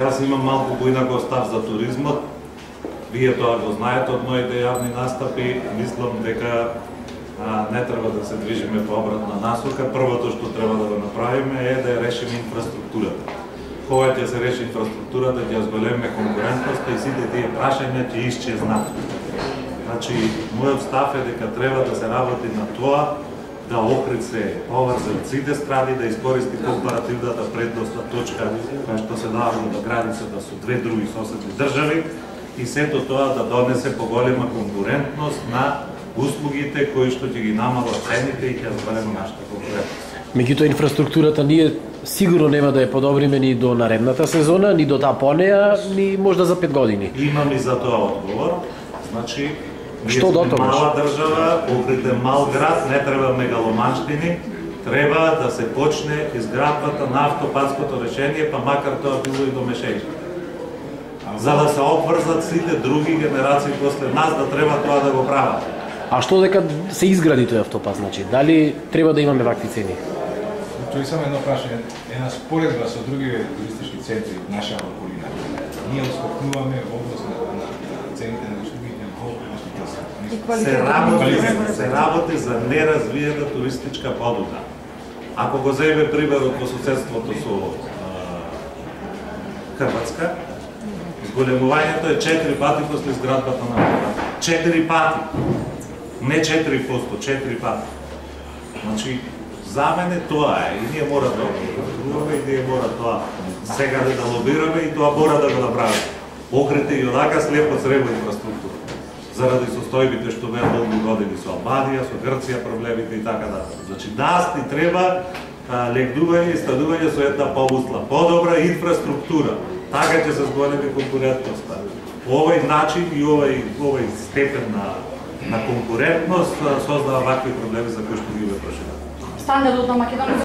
Јас имам малку поинаков став за туризмот. Вие тоа го знаете од моите јавни настапи. Мислам дека не треба да се движиме по обратна насока. Првото што треба да го направиме е да ја решиме инфраструктурата. Кога ќе се реши инфраструктурата, ќе ја зголемиме конкурентноста и сите тие прашања ќе исчезнат. Значи, мојот став е дека треба да се работи на тоа да Охрид се поврзе од сите страни, да искористи компаративната предностна точка која што се дава до границата со две други соседни држави и сето тоа да донесе поголема конкурентност на услугите кои што ќе ги намалат цените и ќе зголема нашата конкурентност. Меѓутоа инфраструктурата ние сигурно нема да ја подобриме ни до наредната сезона, ни до таа понеја, ни можда за 5 години. Имам и за тоа одговор. Значи, што до тоа? Мала држава, Охрид е мал град, не треба мегаломанштини, треба да се почне изградбата на автопатското решение, па макар тоа било и до Мешејка. За да се обврзат сите други генерации после нас, да треба тоа да го прават. А што дека се изгради тој автопат, значи? Дали треба да имаме вакви цени? Тоа е само едно прашање, една споредба со други туристички центри в наша околина. Ние отскокнуваме област на цените на услугите во гостителство. Се работи за неразвиена туристичка понуда. Ако го земе примерот во соседството со Хрватска, зголемувањето е 4 пати после изградбата на автопат. 4 пати. Не 4%, 4 пати. Значи, за мене тоа е и ние мора да го и ние мора тоа сега да лобираме и тоа мора да го направиме. Охрид и онака слепо среба инфраструктура. Заради состојбите што беа долги години со Албанија, со Грција, проблемите и така натаму. Значи, нас ни треба легнување и стадување со една помусла, подобра инфраструктура. Така ќе се зголеми конкурентноста. Овој начин и овој степен на конкурентност создава вакви проблеми за кои што ги проживеме. Стандардот на Македонија